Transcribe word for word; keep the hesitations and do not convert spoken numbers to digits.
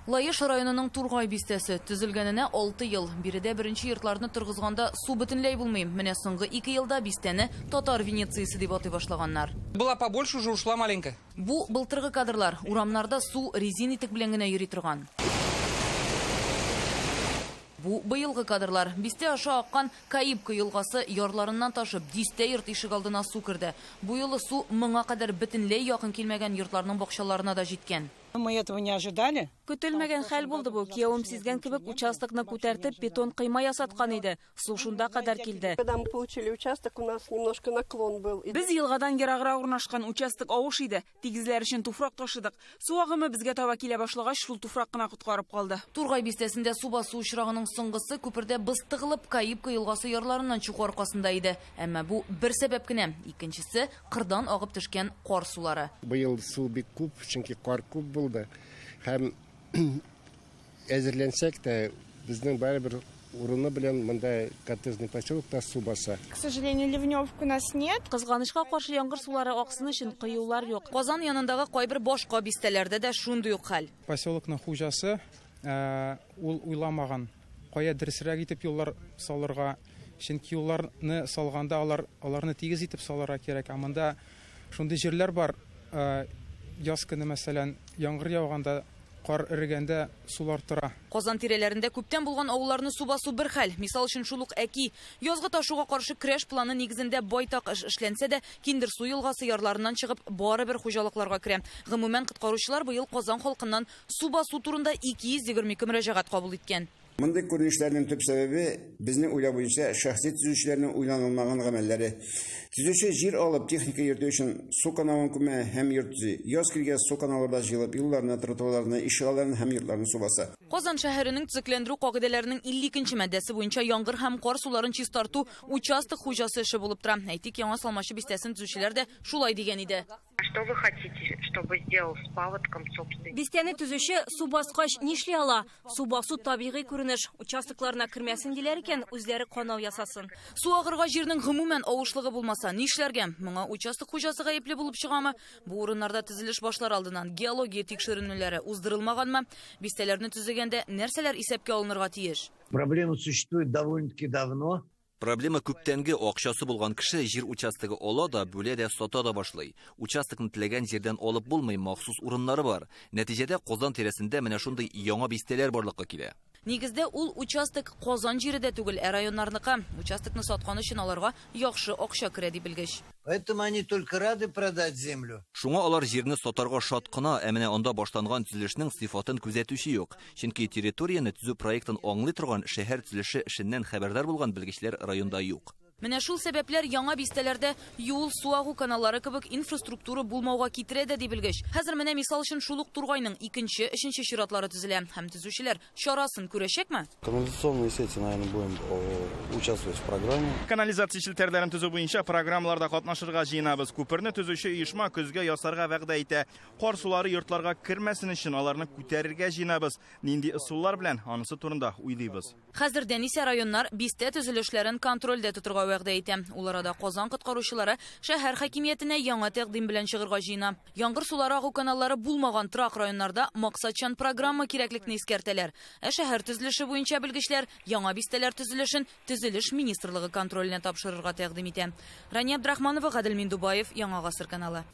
Лаеш районының Тургай бистәсе төзелгәненә алты ел. Биредә беренче йортларны торгызганда су бөтенләй булмый. Менә соңгы ике елда бистәне Татар Венециясе дип атый башлаганнар. Была побольше, уже ушла маленькая. Бу былтыргы кадрлар. Урамнарда су резин итек белән генә йөри торган. Бу быелгы кадрлар. Бистә аша аккан Каипка елгасы ярларыннан ташып, дистә йорт ишегалдына су керде. Бу юлы су моңа кадәр бөтенләй якын килмәгән йортларның бакчаларына да җиткән. Мы этого не ожидали. Көтелмәгән хәл булды бу. Киявем сизгән кебек участокны күтәртеп бетон койма ясаткан иде. Су шунда кадәр килде. Когда мы получили участок, у нас немножко наклон был. Без елгадан ераграк урнашкан участок авыш иде. Тигезләр өчен туфрак ташыдык. Су агымы безгә таба килә башлагач, шул туфрак кына коткарып калды. Тургай бистәсендә су басу очрагының соңгысы күпердә боз тыгылып Каипка елгасы ярларыннан чыгу аркасында иде. Әмма бу бер сәбәп кенә. Икенчесе кырдан агып төшкән кар сулары. Быел су бик күп, чөнки кар күп булды. Һәм әзерләнсәк тә, безнең барыбер урыны белән монда коттеджный поселокта су баса. К сожалению, ливневок у нас нет. Кызганычка каршы яңгыр сулары аксын өчен коюлар юк. Казан янындагы кайбер башка бистәләрдә дә шундый ук хәл. Поселокның хуҗасы ул уйламаган, кая дөресрәк итеп юллар салырга, чөнки юлларны салганда алар аларны тигез итеп салырга кирәк. Ә монда шундый җирләр бар, яз көне, мәсәлән, яңгыр яуганда, кар эрегәндә сулар тора. Казан тирәләрендә күптән булган авылларны су басу бер хәл. Мисал өчен шул ук Әки. Язгы ташуга каршы көрәш планы нигезендә байтак эш эшләнсә дә, Киндер су елгасы ярларыннан чыгып барыбер хуҗалыкларга керә. Гомумән, коткаручылар быел Казан халкыннан су басу турында ике йөз егерме ике мөрәҗәгать кабул иткән. Мондый күренешләрнең төп сәбәбе безнең уйлау буенча шәхси төзүчеләрнең уйланылмаган гамәлләре. Төзүче җир алып техника йөртү өчен су каналын күмә һәм йорт төзи. Яз килгәч су каналларда җыелып юлларны, тротуарларны, ишегалларын һәм йортларны су баса. Казан шәһәренең төзекләндерү кагыйдәләренең илле икенче маддәсе буенча яңгыр һәм кар суларын чистарту участок хуҗасы эше булып тора. Әйтик, Яңа Салмачы бистәсен төзүчеләр дә шулай дигән иде. Что вы хотите, чтобы сделал с паводком собственный? Бистәне төзүче су баскач нишли ала? Су басу табигый күренеш. Участокларына кермәсен диләр икән, үзләре канау ясасын. Су агырга җирнең гомумән авышлыгы булмаса, нишләргә? Моңа участок хуҗасы гаепле булып чыгамы? Бу урыннарда төзелеш башлар алдыннан геология тикшеренүләре уздырылмаганмы? Бистәләрне төзегәндә нәрсәләр исәпкә алынырга тиеш? Проблема существует довольно-таки давно. Проблема күптәнге акчасы булган кеше җир участогы ала да, бүлә дә, сата да башлый. Участокны теләгән җирдән алып булмый, махсус урыннары бар. Нәтиҗәдә Казан тирәсендә менә шундый яңа бистәләр барлыкка килә. Нигездә ул участок Казан җире дә түгел, ә районнарныкы. Участокны саткан өчен аларга яхшы акча керә дип белгеч. Поэтому они только рады продать землю. Шуңа алар җирне сатарга шат кына, ә менә анда башланган төзелешнең сыйфатын күзәтүче юк. Чөнки территорияне төзү проектын аңлый торган шәһәр төзелеше эшеннән хәбәрдар булган белгечләр районда юк. Менә шул сәбәпләр яңа бистәләрдә юл, су агу каналлары кебек инфраструктура булмауга китерә дә дип белгеч. Хәзер менә мисал өчен шул ук Тургайның икенче, өченче чиратлары төзелә. Һәм төзүчеләр чарасын күрәчәкме? Канализационные сети, наверное, будем участвовать в программе. Канализация челтәрләрен төзү буенча программаларда катнашырга җыенабыз. Күперне төзүче оешма көзгә ясарга вәгъдә итә. Кар сулары йортларга кермәсен өчен аларны күтәрергә җыенабыз. Нинди ысуллар белән анысы турында уйлыйбыз. Хәзердән исә районнар бистә төзелешләрен контрольдә тотырга вәгъдә итә. Ул арада Казан коткаручылары шәһәр хакимиятенә яңа тәкъдим белән чыгырга җыена. Яңгыр сулары агу каналлары булмаган торак районнарда максатчан программа кирәклекне искәртәләр. Ә шәһәр төзелеше буенча белгечләр яңа бистәләр төзелешен Төзелеш министрлыгы контроленә тапшырырга тәкъдим итә. Рания Абдрахманова, Гадел Миндубаев, Яңа Гасыр каналы.